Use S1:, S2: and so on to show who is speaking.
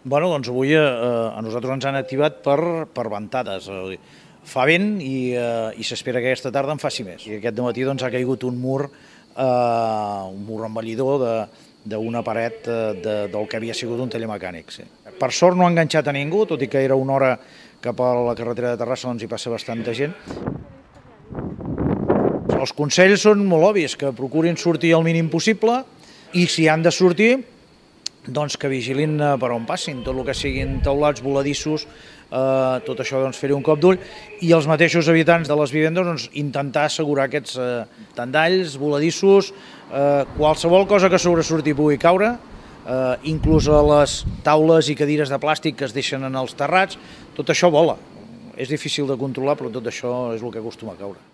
S1: Bueno, doncs avui a nosaltres ens han activat per ventades. Fa vent i s'espera que aquesta tarda en faci més. I aquest matí doncs, ha caigut un mur envellidor d'una paret del que havia sigut un taller mecànic. Sí. Per sort no ha enganxat a ningú, tot i que era una hora cap a la carretera de Terrassa, doncs hi passa bastanta gent. Els consells són molt obvis, que procurin sortir el mínim possible i si han de sortir, doncs que vigilin per on passin, tot el que siguin teulats, voladissos, tot això doncs fer-hi un cop d'ull, i els mateixos habitants de les vivendes doncs, intentar assegurar aquests tendalls, voladissos, qualsevol cosa que sobresurti pugui caure, inclús a les taules i cadires de plàstic que es deixen en els terrats, tot això vola. És difícil de controlar, però tot això és el que acostuma a caure.